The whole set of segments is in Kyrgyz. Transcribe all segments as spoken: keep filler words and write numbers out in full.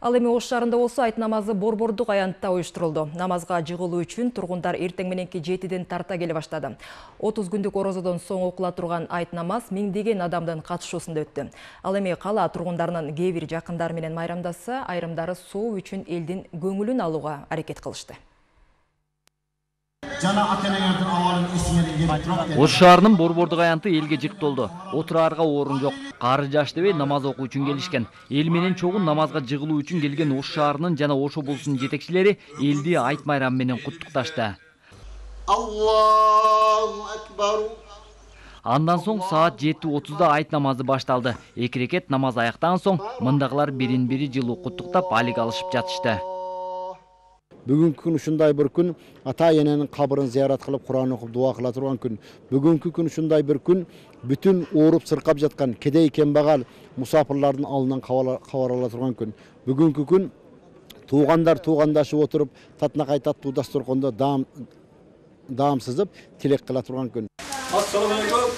Ал эми Ош шаарында болсо айт намазы борбордук аянтта уюштурулду. Намазга жыгылуу үчүн тургундар эртең мененки жетиден тарта келе баштады. отуз күндүк орозодон соң окула турган айт намаз миңдеген адамдын катышуусунда өттү. Ал эми кала тургундарынын кээ бир жакындары менен майрамдаса, айрымдары соо үчүн элдин көңүлүн алууга аракет кылышты. Ош шаарынын борбордук аянты элге жыктолду. Отураарга орун жок. Кары жаш дебей намаз окуу үчүн келишкен. Эл менен чогуу намазга жыгылуу үчүн келген Ош шаарынын жана Ош облусунун жетекчилери элди айт майрамы менен куттукташты. Аллаху акбар. Андан соң саат жети отузда айт намазы башталды. Эки рекет намаз аяктан соң мындагылар бирин-бири жылуу куттуктап алик алышып жатышты. Бүгүнкү күн ушундай бир күн, ата-эненин кабырын зыярат кылып, Куран окуп, дуа кыла турган күн. Бүгүнкү күн ушундай бир күн, бүтүн ооруп сыркап жаткан кедей кембагал мусафирлардын алдынан кабар ала турган күн. Бүгүнкү күн туугандар туугандашып отуруп, татынакай таттуу дасторкондо даам даам сызып, тилек кыла турган күн. Ассаламу алейкум.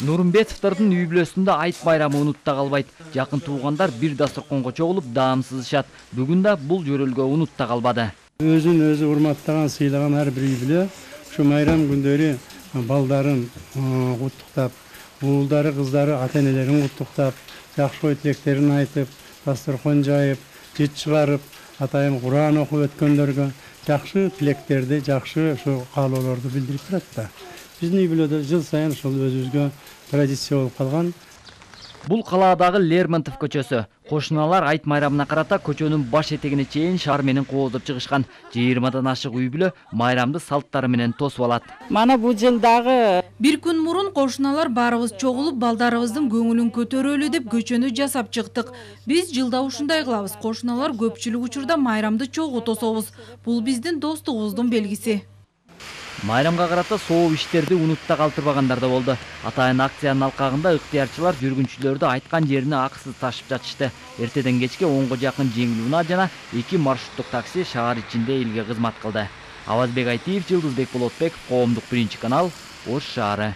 Нурмбетовдордун үй бүлөсүндө айт байрамы унутта калбайт. Жакын туугандар бир дасторконго чогулуп даам сызышат. Бүгүн да бул жөрөлгө унутта калбады. Өзүн өзү урматтаган, сыйлаган ар бир үй бүлө ушу майрам күндөрү балдарын куттуктап, уулдары, кыздары, ата-энелерин куттуктап, жакшы ой тилектерин айтып, дасторкон жайып, жыт чыгарып, атайын Куран окуп өткөндөргө жакшы тилектерди, жакшы ушу каалоолорду билдирип турат да. Биздин үй бүлөдө жыл сайын ошол өзүбүзгө традиция болуп калган. Бул калаадагы Лермонтов көчөсү. Кошуналар айт майрамына карата көчөнүн баш этегине чейин шаар менен кооздоп чыгышкан. жыйырмадан ашык үй бүлө майрамды салттары менен тосуп алат. Мана бул жылдагы бир күн мурун кошуналар баарыбыз чогулуп, балдарыбыздын көңүлүн көтөрөлү деп көчөнү жасап чыктык. Биз жылда ушундай кылабыз. Кошуналар көпчүлүк учурда майрамды чогуу тособуз. Бул биздин достугубуздун белгиси. Майрамга карата сооп иштерди унутта калтырбагандар да болду. Атайын акциянын алкагында ыктыярчылар жүргүнчүлөрдү айткан жерине акысыз ташып жатышты. Эртеден кечке онго жакын жеңил унаа жана эки маршруттук такси шаар ичинде элге кызмат кылды. Авазбек Айтиев, Жылдызбек Болотбеков, Коомдук биринчи канал, Ош шаары.